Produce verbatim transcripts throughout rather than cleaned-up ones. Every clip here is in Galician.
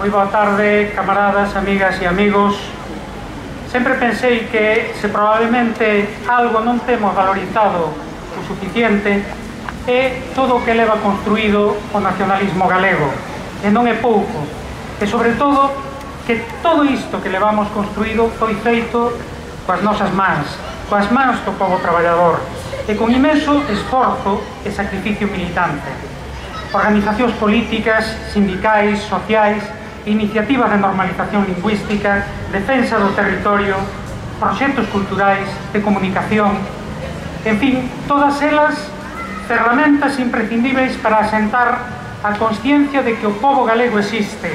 Moi boa tarde, camaradas, amigas e amigos. Sempre pensei que se probablemente algo non temos valorizado o suficiente é todo o que leva construído o nacionalismo galego, e non é pouco, e sobre todo que todo isto que levamos construído foi feito coas nosas mans, coas mans do povo traballador, e con imenso esforzo e sacrificio militante. Organizacións políticas, sindicais, sociais, iniciativas de normalización lingüística, defensa do territorio, proxectos culturais, de comunicación, en fin, todas elas ferramentas imprescindíveis para asentar a consciencia de que o povo galego existe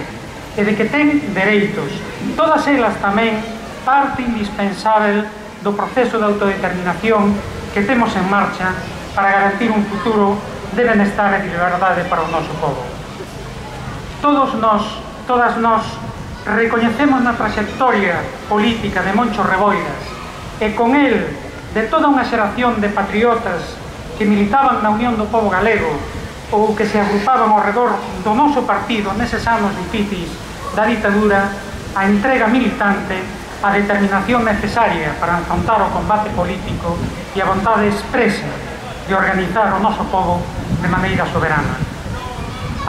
e de que ten dereitos. Todas elas tamén parte indispensável do proceso de autodeterminación que temos en marcha para garantir un futuro de benestar e de liberdade para o noso povo. Todos nós, todas nós, recoñecemos na trayectoria política de Moncho Reboiras e con el de toda unha xeración de patriotas que militaban na Unión do Pobo Galego ou que se agrupaban ao redor do noso partido neses anos difíciles da ditadura, a entrega militante, a determinación necesaria para afrontar o combate político e a vontade expresa de organizar o noso povo de maneira soberana.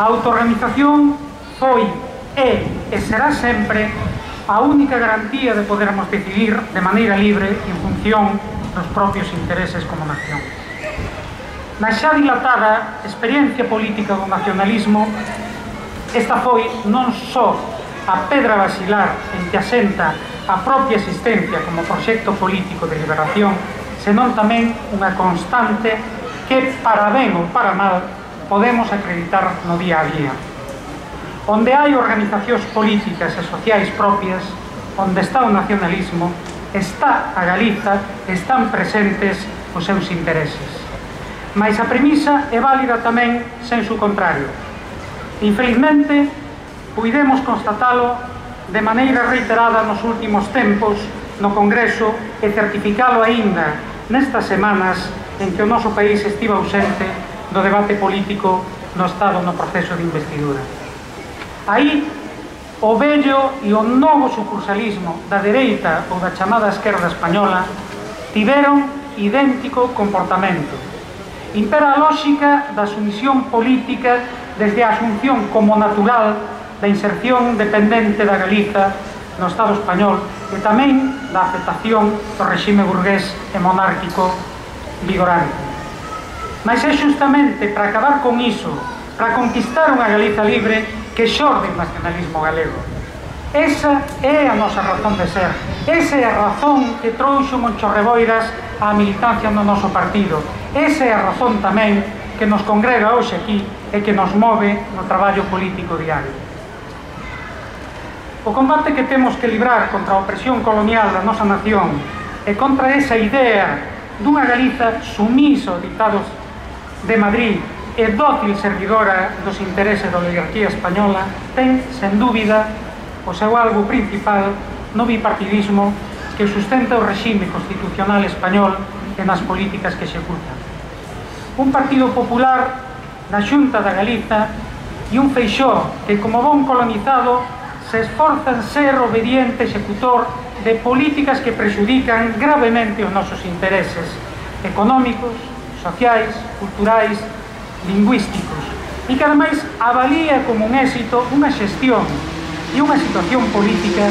A autorganización foi, é e será sempre a única garantía de podermos decidir de maneira libre en función dos propios intereses como nación. Na xa dilatada experiencia política do nacionalismo, esta foi non só a pedra basilar en que asenta a propia existencia como proxecto político de liberación, senón tamén unha constante que, para ben ou para mal, podemos acreditar no día a día. Onde hai organizacións políticas e sociais propias, onde está o nacionalismo, está a Galiza, están presentes os seus intereses. Mais a premisa é válida tamén sen su contrario. Infelizmente, puidemos constatalo de maneira reiterada nos últimos tempos no Congreso e certificalo aínda nestas semanas en que o noso país estiva ausente do debate político no Estado no proceso de investidura. Aí, o vello e o novo sucursalismo da dereita ou da chamada esquerda española tiveron idéntico comportamento. Impera a lógica da sumisión política desde a asunción como natural da inserción dependente da Galiza no Estado español e tamén da aceptación do regime burgués e monárquico vigorante. Mas é justamente para acabar con iso, para conquistar unha Galiza libre, que xorde o nacionalismo galego. Esa é a nosa razón de ser, esa é a razón que trouxo Moncho Reboiras á militancia no noso partido, esa é a razón tamén que nos congrega hoxe aquí e que nos move no traballo político diario. O combate que temos que librar contra a opresión colonial da nosa nación e contra esa idea dunha Galiza sumisa aos ditados de Madrid e dócil servidora dos intereses da oligarquía española ten, sen dúbida, o seu algo principal no bipartidismo que sustenta o regime constitucional español e nas políticas que executa. Un Partido Popular na Xunta da Galiza e un Feixóo que, como bon colonizado, se esforza en ser obediente executor de políticas que prexudican gravemente os nosos intereses económicos, sociais, culturais, lingüísticos, e que ademais avalía como un éxito unha xestión e unha situación política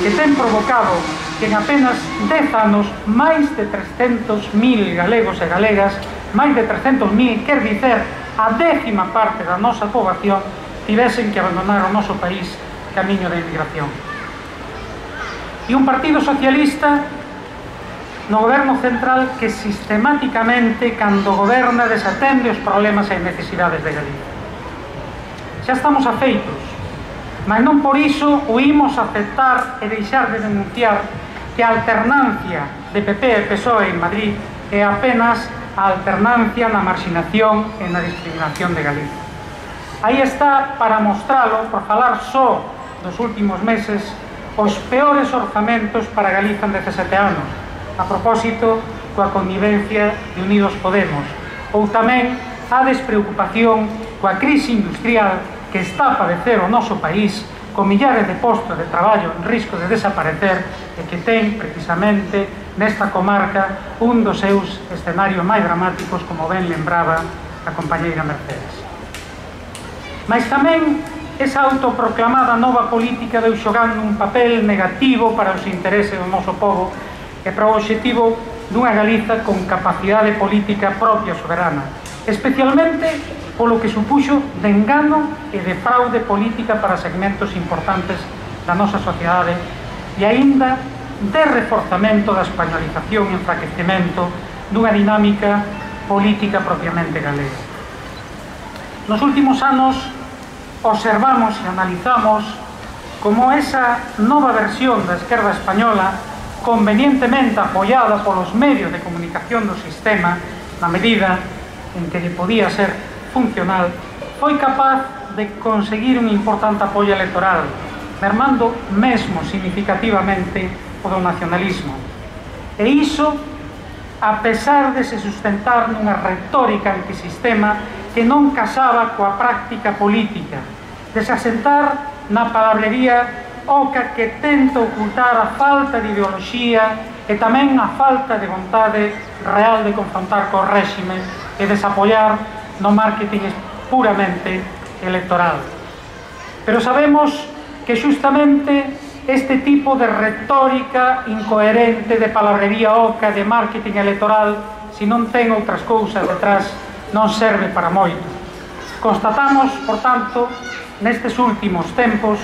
que ten provocado que en apenas dez anos máis de trescentos mil galegos e galegas, máis de trescentos mil, quer dizer, a décima parte da nosa poboación tivesen que abandonar o noso país camiño da emigración. E un partido socialista no goberno central que sistemáticamente, cando goberna, desatende os problemas e necesidades de Galicia. Xa estamos afeitos, mas non por iso o imos aceptar e deixar de denunciar que a alternancia de P P e P S O E en Madrid é apenas a alternancia na marxinación e na discriminación de Galicia. Aí está, para mostralo, por falar só dos últimos meses, os peores orzamentos para Galiza en dezasete anos, a propósito coa connivencia de Unidos Podemos, ou tamén a despreocupación coa crise industrial que está a padecer o noso país con millares de postos de traballo en risco de desaparecer e que ten, precisamente, nesta comarca un dos seus escenarios máis dramáticos, como ben lembraba a compañeira Mercedes. Mas tamén esa autoproclamada nova política veu xogando un papel negativo para os intereses do noso povo e para o obxectivo dunha Galiza con capacidade política propia soberana, especialmente polo que supuxo de engano e de fraude política para segmentos importantes da nosa sociedade e aínda de reforzamento da españolización e enfraquecemento dunha dinámica política propiamente galega. Nos últimos anos observamos e analizamos como esa nova versión da esquerda española, convenientemente apoiada polos medios de comunicación do sistema, na medida en que lle podía ser funcional, foi capaz de conseguir un importante apoio electoral, mermando mesmo significativamente o do nacionalismo. E iso, a pesar de se sustentar nunha retórica antisistema que non casaba coa práctica política, de se asentar na palabrería oca que tenta ocultar a falta de ideoloxía e tamén a falta de vontade real de confrontar co réxime e desapoiar no marketing puramente electoral. Pero sabemos que justamente este tipo de retórica incoherente, de palabrería oca, de marketing electoral, se non ten outras cousas detrás, non serve para moito. Constatamos, por tanto, nestes últimos tempos,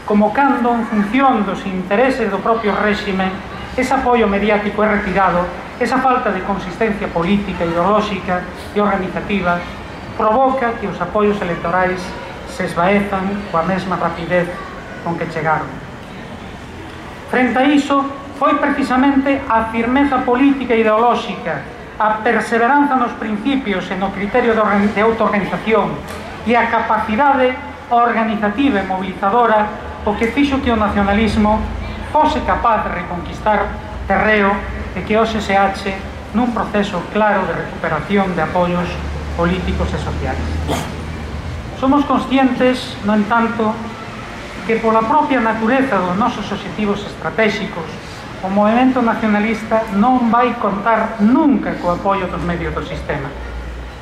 como cando en función dos intereses do propio réxime, ese apoio mediático é retirado, esa falta de consistencia política, ideolóxica e organizativa provoca que os apoios electorais se esvaezan coa mesma rapidez con que chegaron. Frente a iso, foi precisamente a firmeza política e ideolóxica, a perseveranza nos principios e no criterio de autoorganización e a capacidade organizativa e mobilizadora o que fixo que o nacionalismo fose capaz de reconquistar terreo e que hoxe se ache nun proceso claro de recuperación de apoios políticos e sociais. Somos conscientes, no entanto, que pola propia natureza dos nosos obxectivos estratégicos o movimento nacionalista non vai contar nunca co apoio dos medios do sistema.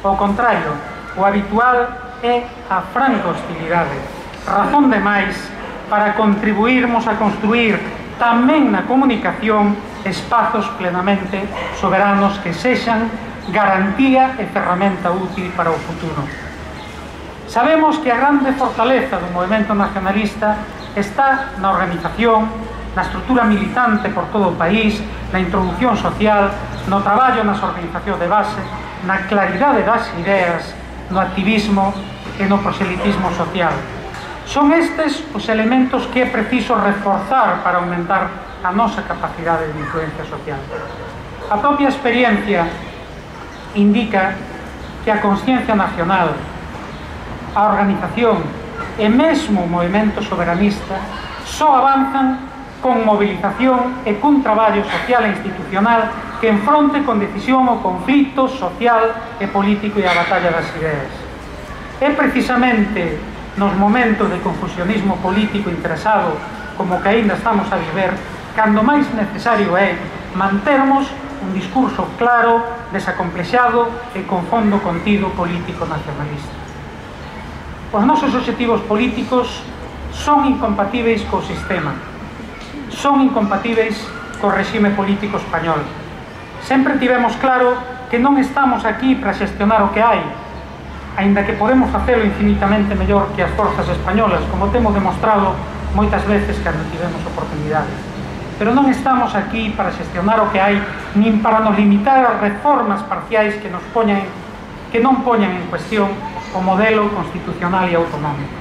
Ao contrario, o habitual é a franca hostilidade, razón de máis para contribuirmos a construir tamén na comunicación espazos plenamente soberanos que sexan garantía e ferramenta útil para o futuro. Sabemos que a grande fortaleza do movimento nacionalista está na organización, na estrutura militante por todo o país, na introducción social, no traballo nas organizacións de base, na claridade das ideas, no activismo e no proselitismo social. Son estes os elementos que é preciso reforzar para aumentar a nosa capacidade de influencia social. A propia experiencia indica que a consciencia nacional, a organización e mesmo o movimento soberanista só avanzan con movilización e cun traballo social e institucional que enfronte con decisión o conflito social e político e a batalla das ideas. É precisamente nos momentos de confusionismo político interesado como que aínda estamos a viver, cando máis necesario é mantermos un discurso claro, desacomplexado e con fondo contido político nacionalista. Os nosos obxectivos políticos son incompatíveis co sistema, son incompatíveis co regime político español. Sempre tivemos claro que non estamos aquí para xestionar o que hai, aínda que podemos facelo infinitamente mellor que as forzas españolas, como temos demostrado moitas veces cando tivemos oportunidade. Pero non estamos aquí para xestionar o que hai, nin para nos limitar as reformas parciais que nos poñan, que non poñan en cuestión o modelo constitucional e autonómico.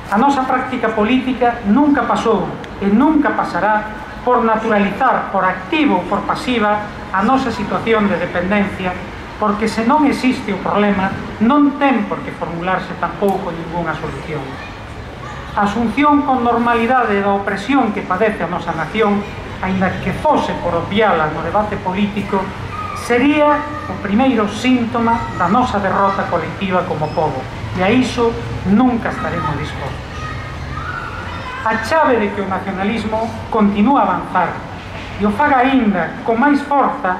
A nosa práctica política nunca pasou e nunca pasará por naturalizar, por activo ou por pasiva, a nosa situación de dependencia, porque se non existe o problema, non ten por que formularse tampouco ningunha solución. A asunción con normalidade da opresión que padece a nosa nación, aínda que fose por obviala no debate político, sería o primeiro síntoma da nosa derrota colectiva como pobo, e a iso nunca estaremos dispostos. a chave de que o nacionalismo continúa a avanzar e o faga aínda con máis forza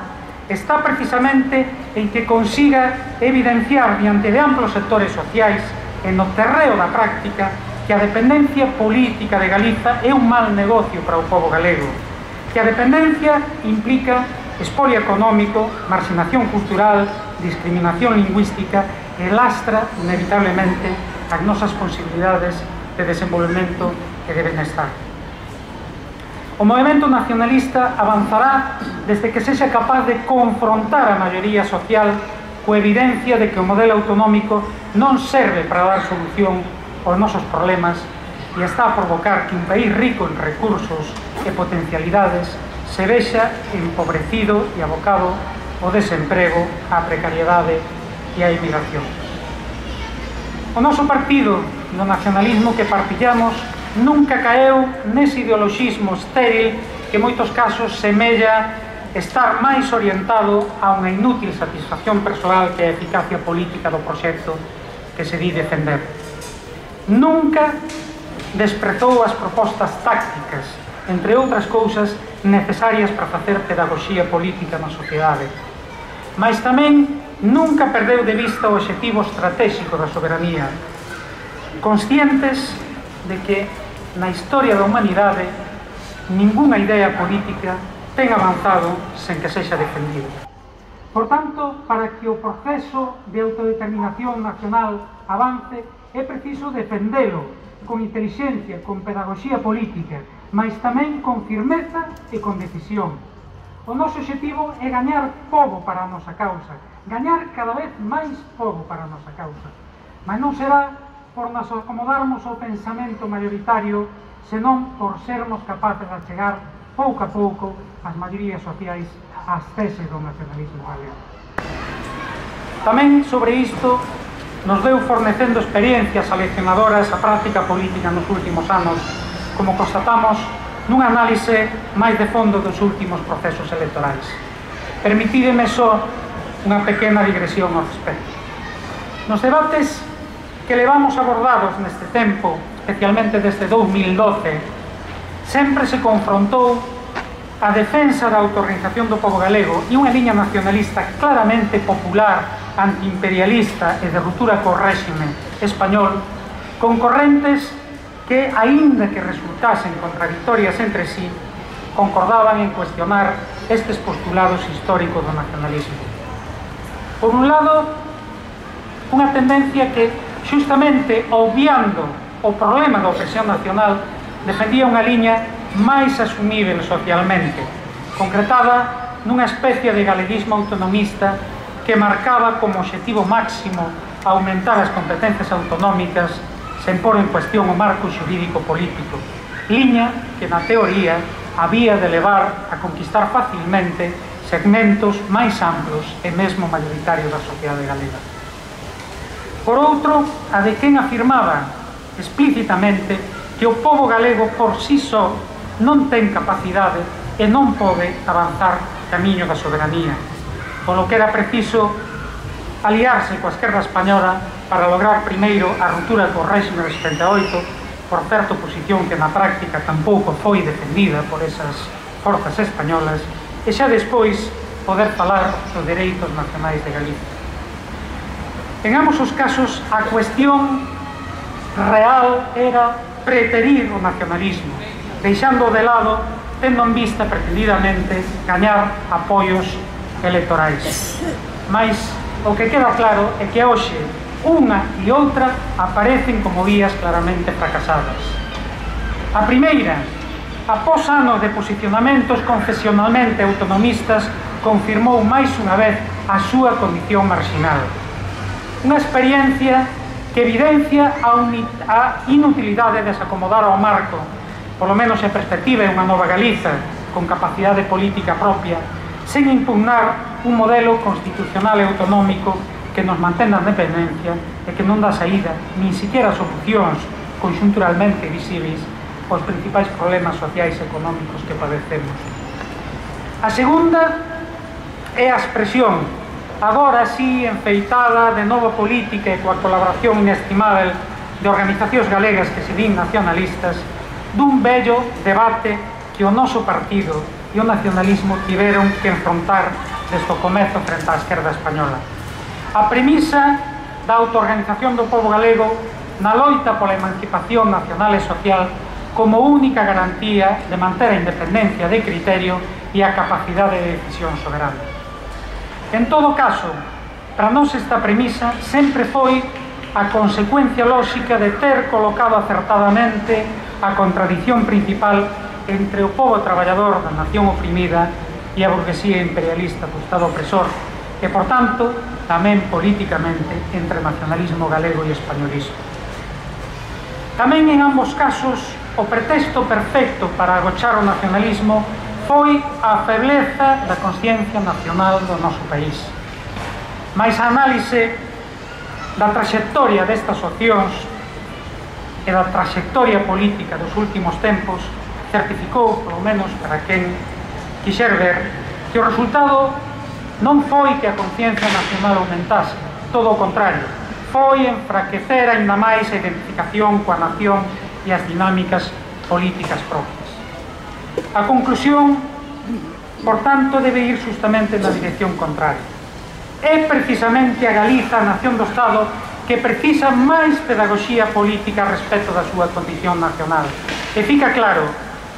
está precisamente en que consiga evidenciar diante de amplos sectores sociais e no terreo da práctica que a dependencia política de Galiza é un mal negocio para o pobo galego, que a dependencia implica expolio económico, marxinación cultural, discriminación lingüística e lastra inevitablemente as nosas posibilidades de desenvolvemento e de benestar. O movimento nacionalista avanzará desde que sexa capaz de confrontar a maioría social coa evidencia de que o modelo autonómico non serve para dar solución aos nosos problemas e está a provocar que un país rico en recursos e potencialidades se vexa empobrecido e abocado ao desemprego, á precariedade e á emigración. O noso partido do nacionalismo que partillamos nunca caeu nese ideoloxismo estéril que en moitos casos semella estar máis orientado a unha inútil satisfacción persoal que a eficacia política do proxecto que se di defender. Nunca desprezou as propostas tácticas, entre outras cousas necesarias para facer pedagogía política na sociedade, mas tamén nunca perdeu de vista o obxectivo estratégico da soberanía, conscientes de que na historia da humanidade ningunha idea política ten avanzado sen que sexa defendido. Por tanto, para que o proceso de autodeterminación nacional avance, é preciso defendelo con intelixencia, con pedagogía política, mas tamén con firmeza e con decisión. O noso objetivo é gañar pobo para a nosa causa, gañar cada vez máis pobo para a nosa causa, mas non será por nos acomodarmos ao pensamento mayoritario, senón por sermos capaces de chegar pouco a pouco as maiorías sociais ás teses do nacionalismo galego. Tamén sobre isto nos veu fornecendo experiencias aleccionadoras a práctica política nos últimos anos, como constatamos nunha análise máis de fondo dos últimos procesos electorais. Permitídeme só unha pequena digresión ao respecto. Nos debates que levamos abordados neste tempo, especialmente desde dous mil doce, sempre se confrontou a defensa da autorganización do pobo galego e unha liña nacionalista claramente popular, antiimperialista e de ruptura co réxime español, con correntes que, aínda que resultasen contradictorias entre sí, concordaban en cuestionar estes postulados históricos do nacionalismo. Por un lado, unha tendencia que, justamente obviando o problema da opresión nacional, defendía unha liña máis asumível socialmente, concretada nunha especie de galeguismo autonomista que marcaba como objetivo máximo aumentar as competencias autonómicas sen pôr en cuestión o marco xurídico político, liña que na teoría había de levar a conquistar facilmente segmentos máis amplos e mesmo maioritarios da sociedade galega. Por outro, a de quen afirmaba explícitamente que o pobo galego por si só non ten capacidade e non pode avanzar camiño da soberanía, polo que era preciso aliarse coa esquerda española para lograr primeiro a ruptura co réxime de setenta e oito, por certa posición que na práctica tampouco foi defendida por esas forzas españolas, e xa despois poder falar dos dereitos nacionais de Galicia. En ambos os casos, a cuestión real era preterir o nacionalismo, deixando de lado, tendo en vista pretendidamente gañar apoios electorais. Mais o que queda claro é que hoxe unha e outra aparecen como vías claramente fracasadas. A primeira, após anos de posicionamentos confesionalmente autonomistas, confirmou máis unha vez a súa condición marxinal. Unha experiencia que evidencia a inutilidade de se acomodar ao marco, polo menos en perspectiva de unha nova Galiza con capacidade política propia, sen impugnar un modelo constitucional e autonómico que nos mantén na dependencia e que non dá saída, nin siquiera solucións conxunturalmente visibles aos principais problemas sociais e económicos que padecemos. A segunda é a expresión, agora sí enfeitada de nova política e coa colaboración inestimável de organizacións galegas que se din nacionalistas, dun vello debate que o noso partido e o nacionalismo tiveron que enfrontar desde o comezo frente á esquerda española. A premisa da autoorganización do pobo galego na loita pola emancipación nacional e social como única garantía de manter a independencia de criterio e a capacidade de decisión soberana. En todo caso, para nós esta premisa sempre foi a consecuencia lóxica de ter colocado acertadamente a contradición principal entre o pobo traballador da nación oprimida e a burguesía imperialista do Estado opresor e, por tanto, tamén políticamente entre nacionalismo galego e españolismo. Tamén en ambos casos o pretexto perfecto para agochar o nacionalismo foi a febleza da consciencia nacional do noso país. Mais a análise da traxectoria destas opcións e da traxectoria política dos últimos tempos certificou, polo menos para quen quixer ver, que o resultado non foi que a conciencia nacional aumentase, todo o contrario, foi enfraquecer aínda máis a identificación coa nación e as dinámicas políticas propias. A conclusión, por tanto, debe ir justamente na dirección contraria. É precisamente a Galiza, a nación do Estado, que precisa máis pedagogía política respecto da súa condición nacional. E fica claro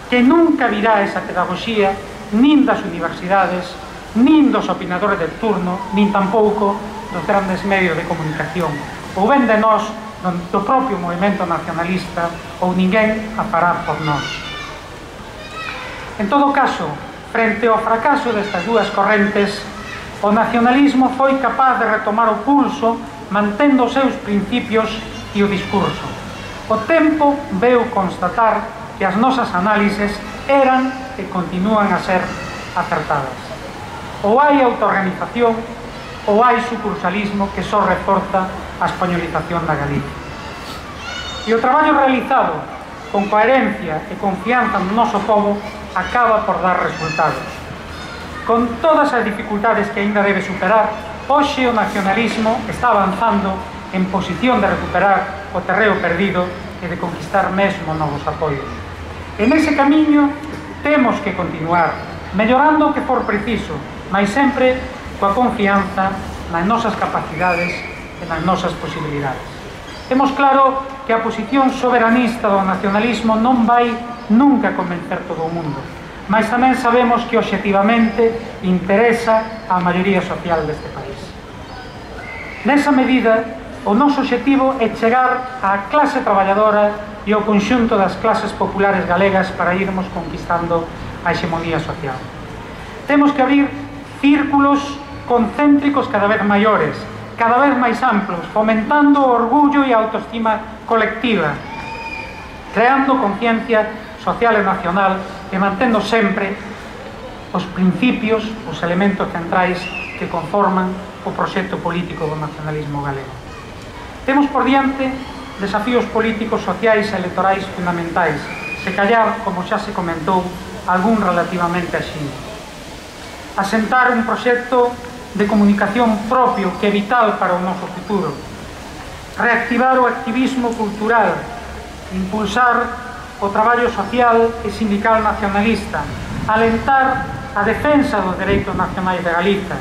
que nunca virá esa pedagogía nin das universidades, nin dos opinadores de turno, nin tampouco dos grandes medios de comunicación, ou ben de nós, do propio movimento nacionalista, ou ninguén a fará por nós. En todo caso, frente ao fracaso destas dúas correntes, o nacionalismo foi capaz de retomar o pulso mantendo os seus principios e o discurso. O tempo veu constatar que as nosas análises eran e continúan a ser acertadas. Ou hai autoorganización ou hai sucursalismo que só reforza a españolización da Galicia. E o traballo realizado con coherencia e confianza no noso pobo acaba por dar resultados. Con todas as dificultades que aínda debe superar, hoxe o nacionalismo está avanzando en posición de recuperar o terreo perdido e de conquistar mesmo novos apoios. En ese camiño temos que continuar, mellorando o que for preciso, mas sempre coa confianza nas nosas capacidades e nas nosas posibilidades. Temos claro que a posición soberanista do nacionalismo non vai nunca convencer todo o mundo, mas tamén sabemos que obxectivamente interesa á maioría social deste país. Nesa medida, o noso obxectivo é chegar á clase traballadora e ao conxunto das clases populares galegas para irmos conquistando a hexemonía social. Temos que abrir círculos concéntricos cada vez maiores, cada vez máis amplos, fomentando o orgullo e a autoestima colectiva, creando conciencia social e nacional e mantendo sempre os principios, os elementos centrais que conforman o proxecto político do nacionalismo galego. Temos por diante desafíos políticos, sociais e electorais fundamentais, se callar, como xa se comentou, algún relativamente así. Asentar un proxecto de comunicación propio que é vital para o noso futuro. Reactivar o activismo cultural, impulsar o traballo social e sindical nacionalista, alentar a defensa dos dereitos nacionais de Galiza,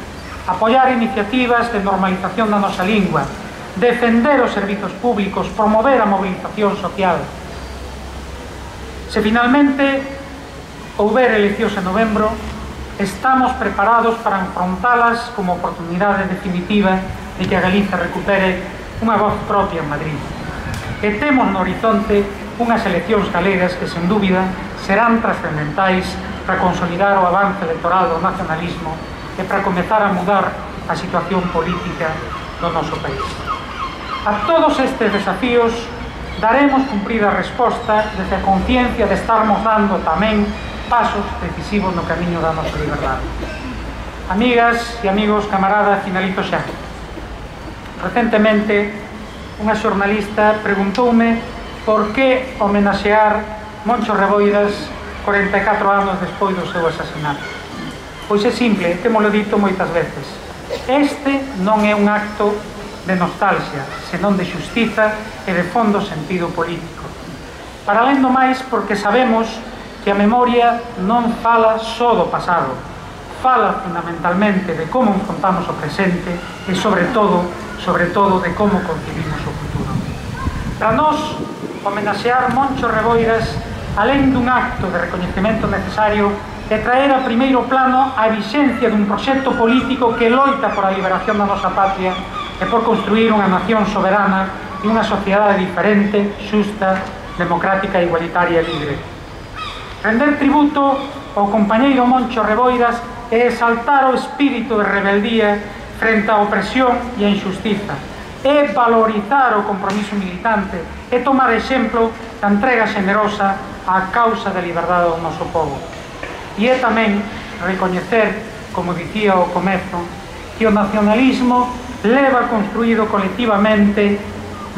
apoiar iniciativas de normalización da nosa lingua, defender os servizos públicos, promover a movilización social. Se finalmente houber eleccións en novembro, estamos preparados para enfrontalas como oportunidade definitiva de que a Galiza recupere unha voz propia en Madrid. E temos no horizonte unhas eleccións galegas que, sen dúbida, serán trascendentais para consolidar o avance electoral do nacionalismo e para comezar a mudar a situación política do noso país. A todos estes desafíos daremos cumprida resposta desde a conciencia de estarmos dando tamén pasos decisivos no camiño da nosa liberdade. Amigas e amigos, camaradas, finalizo xa. Recentemente, unha xornalista preguntoume por que homenaxear Moncho Reboiras corenta e catro anos despois do seu asasinato. Pois é simple, témolo dito moitas veces. Este non é un acto de nostalgia, senón de xustiza e de fondo sentido político. Para alén do máis, porque sabemos que a memoria non fala só do pasado, fala fundamentalmente de como enfrontamos o presente e, sobre todo, sobre todo, de como concibimos o futuro. Para nós, homenaxear Moncho Reboiras, alén dun acto de recoñecemento necesario, é traer a primeiro plano a vixencia dun proxecto político que loita por a liberación da nosa patria e por construir unha nación soberana e unha sociedade diferente, xusta, democrática, igualitaria e libre. Render tributo ao compañeiro Moncho Reboiras é exaltar o espírito de rebeldía frente á opresión e a injustiza, é valorizar o compromiso militante, é tomar exemplo da entrega xenerosa á causa da liberdade do noso povo. E é tamén recoñecer, como dicía ao comezo, que o nacionalismo leva construído colectivamente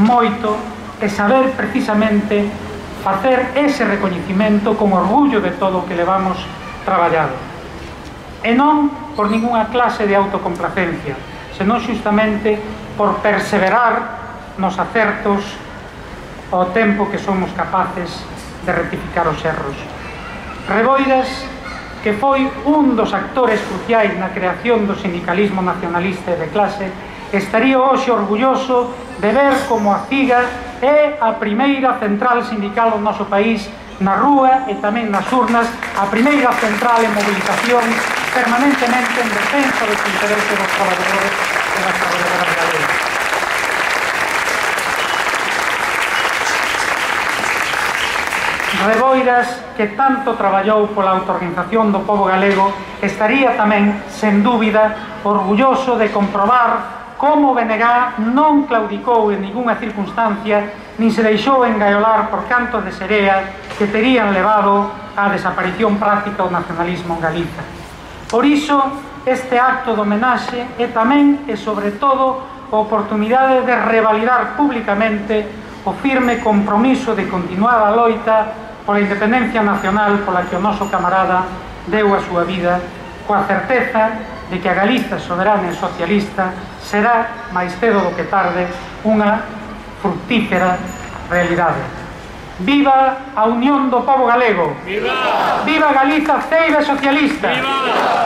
moito e saber precisamente facer ese recoñecimento con orgullo de todo o que levamos traballado. E non por ningunha clase de autocomplacencia, senón justamente por perseverar nos acertos ao tempo que somos capaces de rectificar os erros. Reboiras, que foi un dos actores cruciais na creación do sindicalismo nacionalista e de clase, estaría hoxe orgulloso de ver como a CIGA é a primeira central sindical do noso país na rúa e tamén nas urnas, a primeira central en movilización permanentemente en defensa dos intereses dos traballadores e das traballadoras galegas. Reboiras, que tanto traballou pola autoorganización do pobo galego, estaría tamén, sen dúbida, orgulloso de comprobar como o B N G non claudicou en ningunha circunstancia nin se deixou engaiolar por cantos de serea que terían levado á desaparición práctica do nacionalismo en Galiza. Por iso, este acto de homenaxe é tamén e sobre todo a oportunidade de revalidar públicamente o firme compromiso de continuar a loita pola independencia nacional pola que o noso camarada deu a súa vida, coa certeza de que a Galiza soberana e socialista será, máis cedo do que tarde, unha fructífera realidade. Viva a unión do pobo galego! Viva! Viva Galiza ceira socialista! Viva!